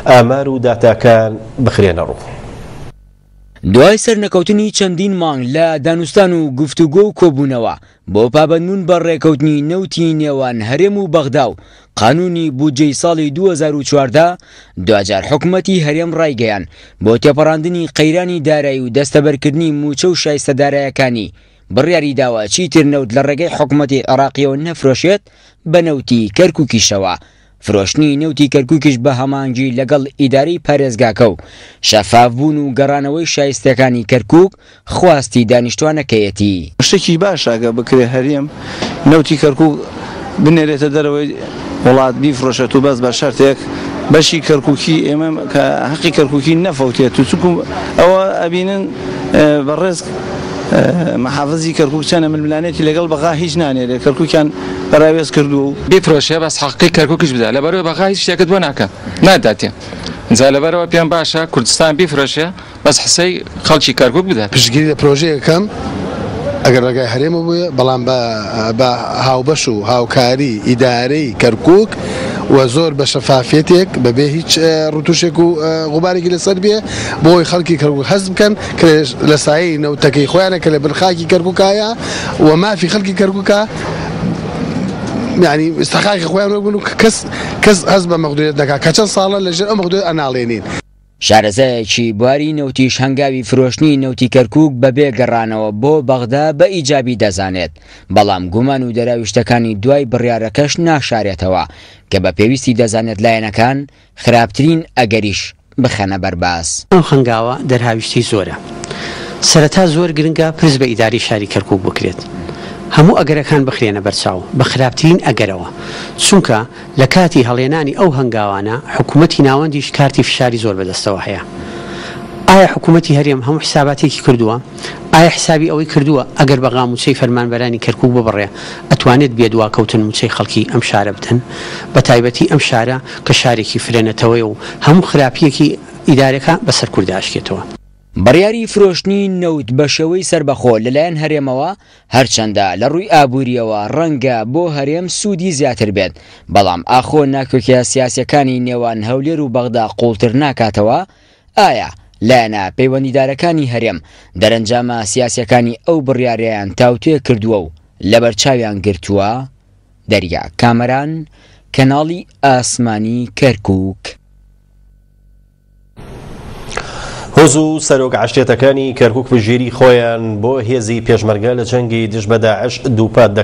ئامار و داتاکان بخرێنە ڕوو. دوای سەرنەکەوتنی چەندین مانگ لە دانوستان و گفتوگۆ و کۆبوونەوە بۆ پابەندبوون بە ڕێکەوتنی نەوتی نێوان هەرێم و بەغدا و قانونی بودجەی ساڵی 2014، دواجار حکومەتی هەرێم ڕایگەیاند بۆ تێپەڕاندنی قەیرانی دارایی و دەستەبەرکردنی مووچە و شایستە دارایەکانی بڕیاریداوە چیتر نەوت لە ڕێگەی حکومەتی عێراقیەوە نەفرۆشێت بە نەوتی کەرکوکیشەوە. فرۆشتنی نەوتی کەرکوکیش بە هەماهەنگی لەگەڵ ئیدارەی پارێزگاکە و شەفافبوون و گەڕانەوەی شایستەکانی کەرکوک خواستی دانیشتوانەکەیەتی. شتێکی باشە گەر بکرێت هەرێم نەوتی کەرکوک بنێرێتە دەرەوەی وڵات بیفرۆشێت و بەس بە شەرتێک بەشی کەرکوکی ئێمە کە هەقی کەرکوکی نەفەوتێت و چونکو ئەوە ئەبینن بەڕێز محافزی کەرکوک چەنە ململانێتی لەگەڵ بەغا هیچ نانێرێت کەرکوکیان پەراوێز کردووە و. بیفرۆشێ بەس حەقی کەرکوکیش بدا لەبەرئەوەی بەغا هیچ شتێکت بۆ ناکا ناداتێ جا لەبەرئەوە پێم باشە کوردستان بیفرۆشێ بەس حسەی خەڵکی کەرکوک بدات. پشتگیری لە پرۆژەیەک ئەکەم ئەگەر ڕێگای هەرێمەوە بووێ بەڵام بە هاوبەش و هاوکاری ئیدارەی کەرکوک و زۆر بە شەفافیەتێک بەبێ هیچ ڕتوشێک و غوبارێکی لەسەر بێ بۆ ئەوەی خەڵکی کەرکوک هەست بکەن کە لە سایەی نەوتەکەی خۆیانە کە لە بن خاکی کەرکوکایە و مافی خەڵکی کەرکوکە یعنی استحقاقی خۆیان وەربگرن و کەس کەس هەست بە مەغدوریەت نەکا کە چەند ساڵە لەژێر ئەو مەغدوریەت ئەناڵێنین. شارەزایەکی بواری نەوتیش هەنگاوی فرۆشتنی نەوتی کەرکوک بەبێ گەڕانەوە بۆ بەغدا بە ئیجابی دەزانێت، بەڵام گومان و دەراویشتەکانی دوای بڕیارەکەش ناشارێتەوە کە بە پێویستی دەزانێت لایەنەکان خراپترین ئەگەریش بخەنە بەر باس. ئەم هەنگاوە دەرهاویشتەی زۆرە. سەرەتا زۆر گرنگە پرس بە ئیدارەی شاری کەرکوک بکرێت. هەموو ئەگەرەکان بخرێنە بەرچاو، بە خراپترین ئەگەرەوە. چونکە لە کاتی هەڵێنانی ئەو هەنگاوانە حکومەتی ناوەندیش کارتی فشاری زۆر بەدەستەوە هەیە. ئایا حکومەتی هەرێم هەموو حساباتێکی کردووە؟ ئایا حسابی ئەوەی کردووە ئەگەر بەغا موچەی فەرمانبەرانی کەرکوک ببڕێ ئەتوانێت بێ دواکەوتن موچەی خەڵکی ئەم شارە بدەن؟ بەتایبەتی ئەم شارە کە شارێکی فرە نەتەوەیە و هەموو خراپییەکی ئیدارەکە بەسەر کوردا ئەشکێتەوە. بڕیاری فرۆشتنی نەوت بەشێوەی سەربەخۆ لەلایەن هەرێمەوە هەرچەندە لە ڕووی ئابوورییەوە ڕەنگە بۆ هەرێم سوودی زیاتر بێت، بەڵام ئاخۆ ناکۆکییە سیاسییەکانی نێوان هەولێر و بەغدا قووڵتر ناکاتەوە؟ ئایا لایەنە پەیوەندیدارەکانی هەرێم دەرەنجامە سیاسییەکانی ئەو بڕیارەیان تاوتوێ کردووە و لەبەرچاویان گرتووە؟ دەریا کامەران، کەناڵی ئاسمانی کەرکووک. هۆز و سەرۆک عەشرەتەکانی کەرکوک پشتگیری خۆیان بۆ هێزی پێشمەرگە لە جەنگی دژ بە داعش دووپات دەکەنەوە.